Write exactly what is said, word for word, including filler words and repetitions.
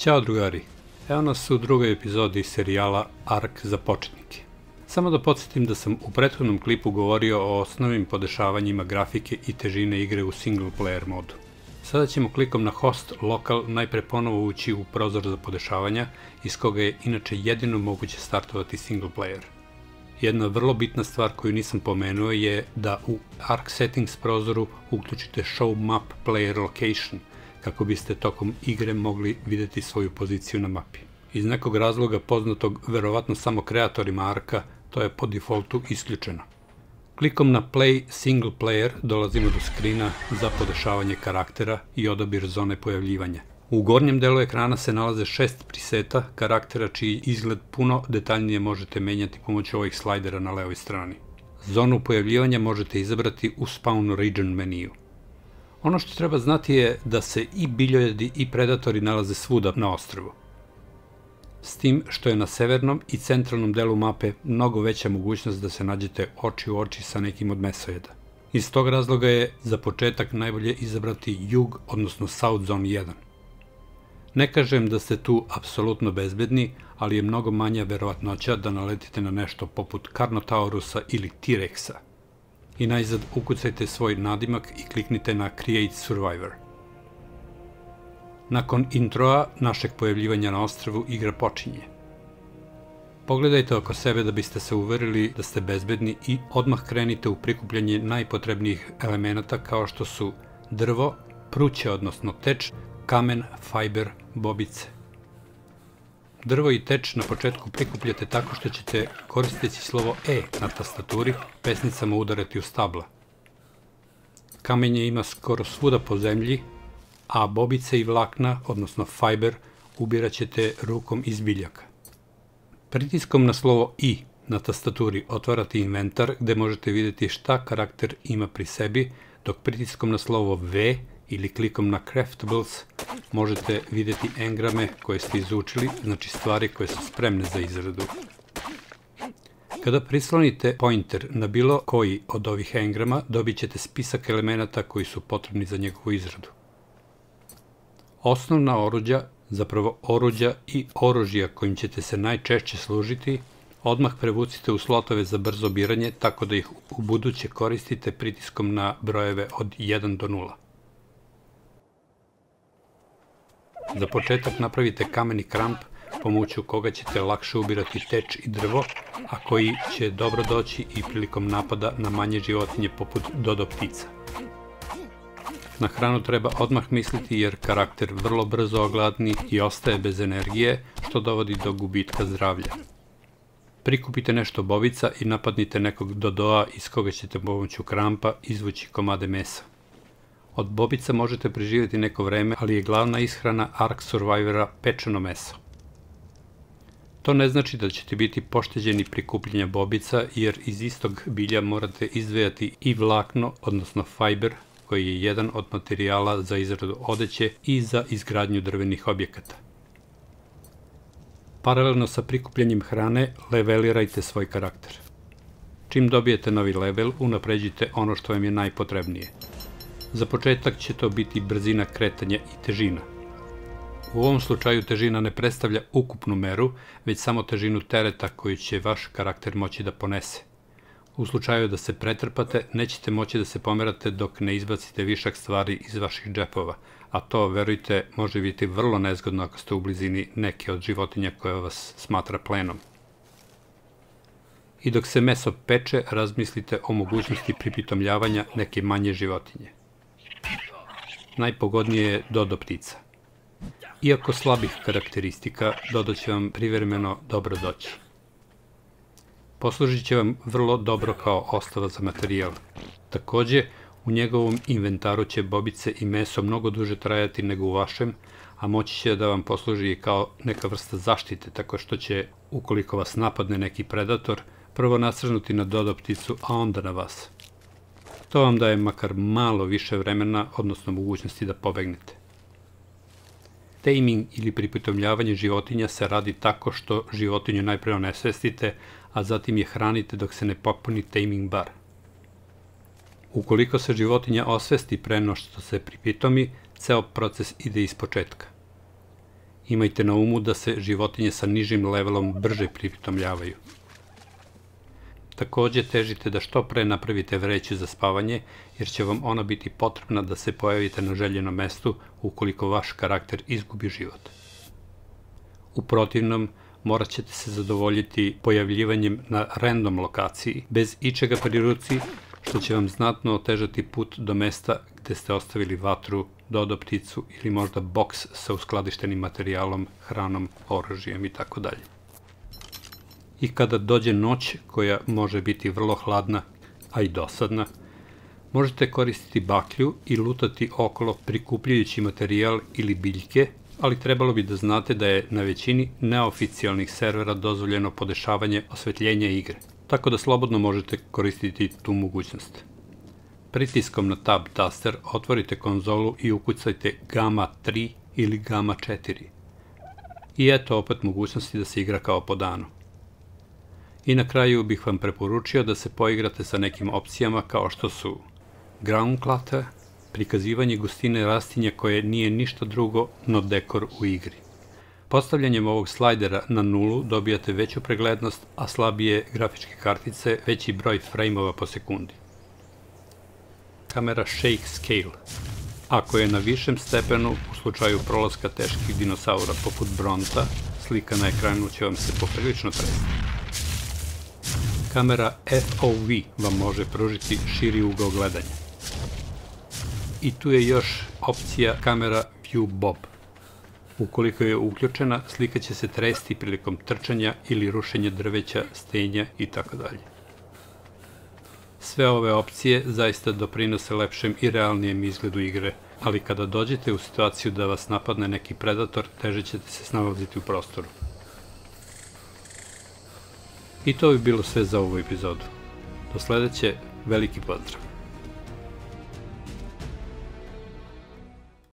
Ćao drugari, evo nas u drugoj epizodi serijala Ark za početnike. Samo da podsjetim da sam u prethodnom klipu govorio o osnovnim podešavanjima grafike i težine igre u single player modu. Sada ćemo klikom na host lokal najpre ponovo ući u prozor za podešavanja, iz koga je inače jedino moguće startovati single player. Jedna vrlo bitna stvar koju nisam pomenuo je da u Ark Settings prozoru uključite Show Map Player Location, kako biste tokom igre mogli vidjeti svoju poziciju na mapi. Iz nekog razloga poznatog verovatno samo kreatorima Arka, to je po defaultu isključeno. Klikom na Play Single Player dolazimo do skrina za podešavanje karaktera i odabir zone pojavljivanja. U gornjem delu ekrana se nalaze šest preseta karaktera čiji izgled puno detaljnije možete menjati pomoću ovih slajdera na levoj strani. Zonu pojavljivanja možete izabrati u Spawn Region meniju. Ono što treba znati je da se i biljojedi i predatori nalaze svuda na ostrvu. S tim što je na severnom i centralnom delu mape mnogo veća mogućnost da se nađete oči u oči sa nekim od mesojeda. Iz tog razloga je za početak najbolje izabrati jug, odnosno South Zone jedan. Ne kažem da ste tu apsolutno bezbedni, ali je mnogo manja verovatnoća da naletite na nešto poput Carnotaurusa ili T-Rexa. I najzad ukucajte svoj nadimak i kliknite na Create Survivor. Nakon introa našeg pojavljivanja na ostrvu igra počinje. Pogledajte oko sebe da biste se uverili da ste bezbedni i odmah krenite u prikupljanje najpotrebnijih elemenata kao što su drvo, pruće odnosno teč, kamen, fajber, bobice. Drvo i teč na početku prikupljate tako što ćete, koristeći slovo E na tastaturi, pesnicama udarati u stabla. Kamenje ima skoro svuda po zemlji, a bobice i vlakna, odnosno fajber, ubirat ćete rukom iz biljaka. Pritiskom na slovo I na tastaturi otvarate inventar gde možete vidjeti šta karakter ima pri sebi, dok pritiskom na slovo V ili klikom na Craftables možete vidjeti engrame koje ste izučili, znači stvari koje su spremne za izradu. Kada prislonite pointer na bilo koji od ovih engrama, dobit ćete spisak elemenata koji su potrebni za njegovu izradu. Osnovna oruđa, zapravo oruđa i oružja kojim ćete se najčešće služiti, odmah prevucite u slotove za brzo biranje tako da ih u buduće koristite pritiskom na brojeve od jedan do nula. Za početak napravite kameni kramp pomoću koga ćete lakše ubirati teč i drvo, a koji će dobro doći i prilikom napada na manje životinje poput dodo ptica. Na hranu treba odmah misliti jer karakter vrlo brzo ogladni i ostaje bez energije, što dovodi do gubitka zdravlja. Prikupite nešto bobica i napadnite nekog dodoa iz koga ćete pomoću krampa izvući komade mesa. Od bobica možete preživjeti neko vreme, ali je glavna ishrana Ark Survivora pečeno meso. To ne znači da ćete biti pošteđeni prikupljenja bobica, jer iz istog bilja morate izdvajati i vlakno, odnosno fajber, koji je jedan od materijala za izradu odeće i za izgradnju drvenih objekata. Paralelno sa prikupljanjem hrane, levelirajte svoj karakter. Čim dobijete novi level, unapređite ono što vam je najpotrebnije. Za početak će to biti brzina kretanja i težina. U ovom slučaju težina ne predstavlja ukupnu meru, već samo težinu tereta koju će vaš karakter moći da ponese. U slučaju da se pretrpate, nećete moći da se pomerate dok ne izbacite višak stvari iz vaših džepova, a to, verujte, može biti vrlo nezgodno ako ste u blizini neke od životinja koja vas smatra plenom. I dok se meso peče, razmislite o mogućnosti pripitomljavanja neke manje životinje. Najpogodnije je dodo ptica. Iako slabih karakteristika, dodo će vam privremeno dobro doći. Poslužit će vam vrlo dobro kao ostava za materijal. Takođe, u njegovom inventaru će bobice i meso mnogo duže trajati nego u vašem, a moći će da vam posluži kao neka vrsta zaštite, tako što će, ukoliko vas napadne neki predator, prvo nasrnuti na dodo pticu, a onda na vas. To vam daje makar malo više vremena, odnosno mogućnosti da pobegnete. Taming ili pripitomljavanje životinja se radi tako što životinju najpre onesvestite, a zatim je hranite dok se ne popuni taming bar. Ukoliko se životinja osvesti pre no što se pripitomi, ceo proces ide iz početka. Imajte na umu da se životinje sa nižim levelom brže pripitomljavaju. Takođe, težite da što pre napravite vreću za spavanje, jer će vam ona biti potrebna da se pojavite na željenom mestu ukoliko vaš karakter izgubi život. U protivnom, morat ćete se zadovoljiti pojavljivanjem na random lokaciji, bez ičega pri ruci, što će vam znatno otežati put do mesta gde ste ostavili vatru, dodo pticu ili možda boks sa uskladištenim materijalom, hranom, oružjem i tako dalje. I kada dođe noć, koja može biti vrlo hladna, a i dosadna, možete koristiti baklju i lutati okolo prikupljajući materijal ili biljke, ali trebalo bi da znate da je na većini neoficijalnih servera dozvoljeno podešavanje osvetljenja igre, tako da slobodno možete koristiti tu mogućnost. Pritiskom na Tab taster otvorite konzolu i ukucajte Gamma tri ili Gamma četiri. I eto opet mogućnosti da se igra kao po danu. I na kraju bih vam preporučio da se poigrate sa nekim opcijama kao što su Ground Clutter, prikazivanje gustine rastinja koje nije ništa drugo no dekor u igri. Postavljanjem ovog slajdera na nulu dobijate veću preglednost, a slabije grafičke kartice veći broj frejmova po sekundi. Kamera Shake Scale. Ako je na višem stepenu, u slučaju prolaska teških dinosaura poput Bronta, slika na ekranu će vam se poprilično tresti. Kamera F O V vam može pružiti širi ugao gledanja. I tu je još opcija kamera View Bob. Ukoliko je uključena, slika će se tresti prilikom trčanja ili rušenja drveća, stenja itd. Sve ove opcije zaista doprinose lepšem i realnijem izgledu igre, ali kada dođete u situaciju da vas napadne neki predator, teže ćete se snalaziti u prostoru. I to bi bilo sve za ovu epizodu. Do sledeće, veliki pozdrav!